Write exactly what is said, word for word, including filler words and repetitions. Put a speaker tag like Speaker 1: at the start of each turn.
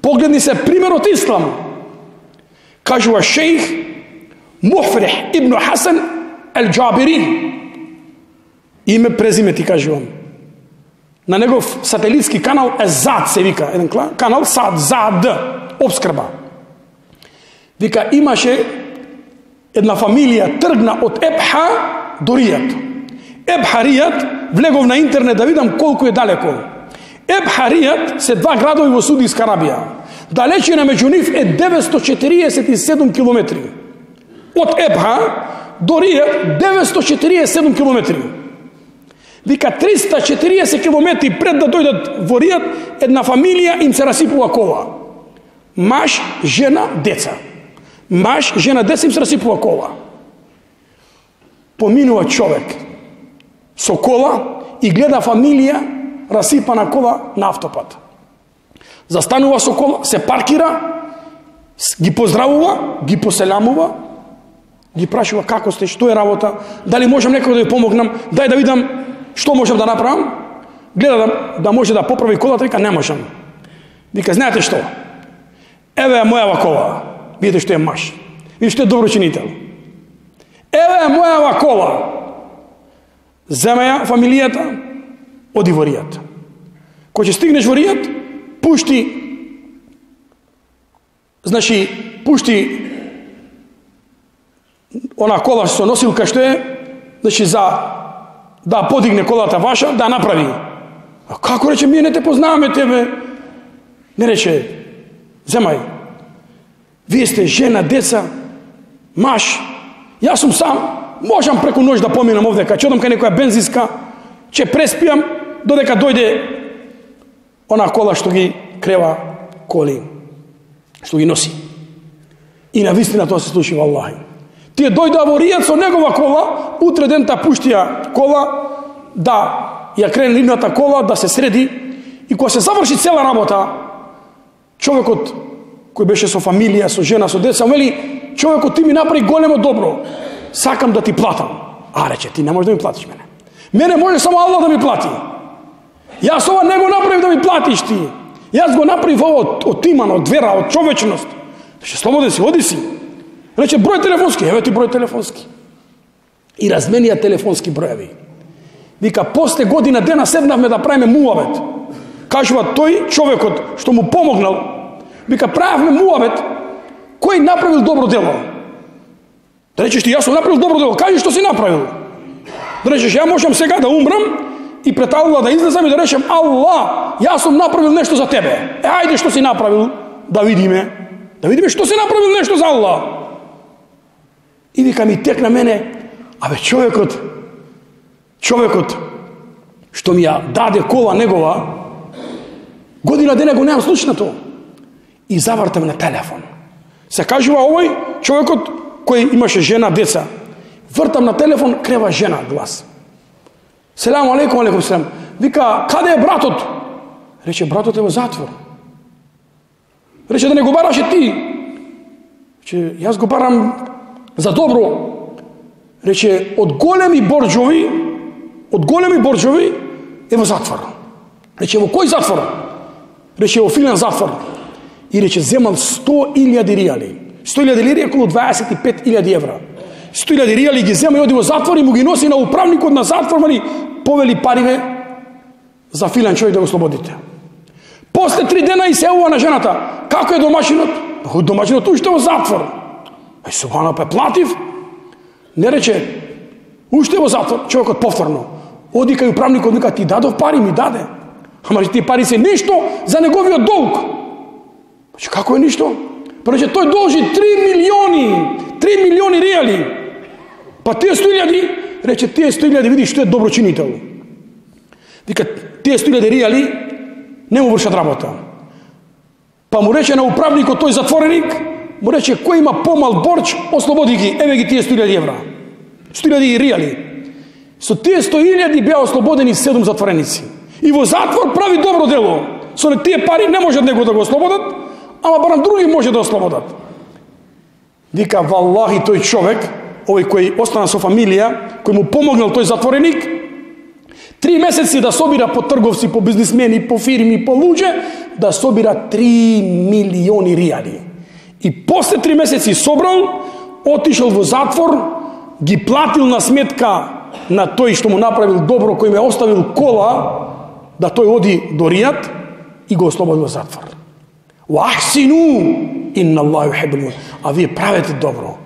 Speaker 1: Погледни се примерот Ислам. Кажува шейх Мухфрих ибн Хасан Ал-Джабири. Име, презиме ти кажувам. На негов сателитски канал е ЗАД, се вика. Еден канал САД, ЗАД, обскрба. Вика, имаше една фамилија тргна од Ебха до Ријад. Ебха Ријад, влегов на интернет да видам колку е далеко. Ебха Ријад се два градови во Судиска Арабија. Далечина меѓу нив е деветстотини четириесет и седум километри. Од Ебха до Ријад деветстотини четириесет и седум километри. Вика, триста и четириесет километри пред да дојдат во Ријад, една фамилија им се расипува кола. Маж, жена, деца. Маж, жена, деца им се расипува кола. Поминува човек со кола и гледа фамилија расипана кола на автопат. Застанува со кола, се паркира, ги поздравува, ги поселамува, ги прашува како сте, што е работа, дали можам некој да ви помогнам, дај да видам што можам да направам. Гледа да, да може да поправи колата, вика не можам. Вика, знаете што? Еве е мојава кола. Видите што е маж. Видите што е доброчинител. Еве е мојава кола. Зема ја фамилијата, оди во Ријад. Кој ќе стигнеш во Ријад, пушти, значи, пушти она кола со носилка што е, значи, за да подигне колата ваша, да направи. А како рече, ние не те познаваме тебе? Не рече, земај, вие сте жена, деца, маж, јас сум сам, можам преку ноќ да поминам овдека, ќе одам кај некоја бензинска, ќе преспијам, додека дојде она кола што ги крева коли, што ги носи. И на вистина тоа се случи, валлахи. Тие дојдоа во Ријад со негова кола, утре дента пуштија кола, да ја крене нивната кола, да се среди, и кога се заврши цела работа, човекот кој беше со фамилија, со жена, со деца, вели, човекот, ти ми направи големо добро, сакам да ти платам. А, рече, ти не можеш да ми платиш мене. Мене може само Аллах да ми плати. Јас ова не го направив да ми платиш ти. Јас го направив ова од, од иман, од вера, од човечност. Рече, слободен си, оди си. Рече, број телефонски, еве ти број телефонски. И разменија телефонски броеви. Вика, после година дена седнавме да правиме муавет. Кажува тој човекот што му помогнал. Вика, правевме муавет, кој направил добро дело. Да речеш ти, јас сум направил добро дело, кажи што си направил. Да речеш, ја можам сега да умрам и пред Аллах да излезам и да речем, Аллах, јас сум направил нешто за тебе. Е, ајде што си направил, да видиме. Да видиме што си направил нешто за Аллах. И вика ми текна мене, абе човекот, човекот што ми ја даде кола негова, година дена го немам слушнато. И завртам на телефон. Се кажува овој човекот кој имаше жена, деца. Вртам на телефон, крева жена глас. Селам алейкум, алейкум селам. Вика, каде е братот? Рече, братот е во затвор. Рече, да не го бараше ти. Рече, јас го барам за добро. Рече, од големи борџови, од големи борџови е во затвор. Рече, во кој затвор? Рече, во филен затвор. И рече, земал сто илјади ријали. сто илјади лири е околу дваесет и пет илјади евра. сто илјади ријали ги зема и оди во затвор и му ги носи на управникот на затвор, мали повели париве за филен човек да го слободите. После три дена и се јавува на жената. Како е домашинот? Домашинот уште во затвор. Ај субхана, па платив. Не рече, уште во затвор. Човекот повторно. Оди кај управникот, вика, ти дадов пари, ми даде. Ама тие пари се ништо за неговиот долг. Значи, како е ништо? Па рече, тој должи три милиони, три милиони ријали. Па тие сто илјади, рече, тие сто илјади, види што е доброчинител. Вика, тие сто илјади ријали не му вршат работа. Па му рече на управникот, тој затвореник, му рече, кој има помал борч, ослободи ги, еве ги тие сто илјади евра. сто илјади ријали. Со тие сто илјади беа ослободени седум затвореници. И во затвор прави добро дело. Со тие пари не можат него да го ослободат, ама барам други може да ослободат. Вика, валлахи, тој човек, овој кој остана со фамилија, кој му помогнал тој затвореник, Три месеци да собира по трговци, по бизнисмени, по фирми, по луѓе, да собира три милиони ријали. И после три месеци собрал, отишел во затвор, ги платил на сметка на тој што му направил добро, кој ме оставил кола, да тој оди до Ријад и го ослободил во затвор. Вахсину инна Аллаху юхиббул. А вие правете добро.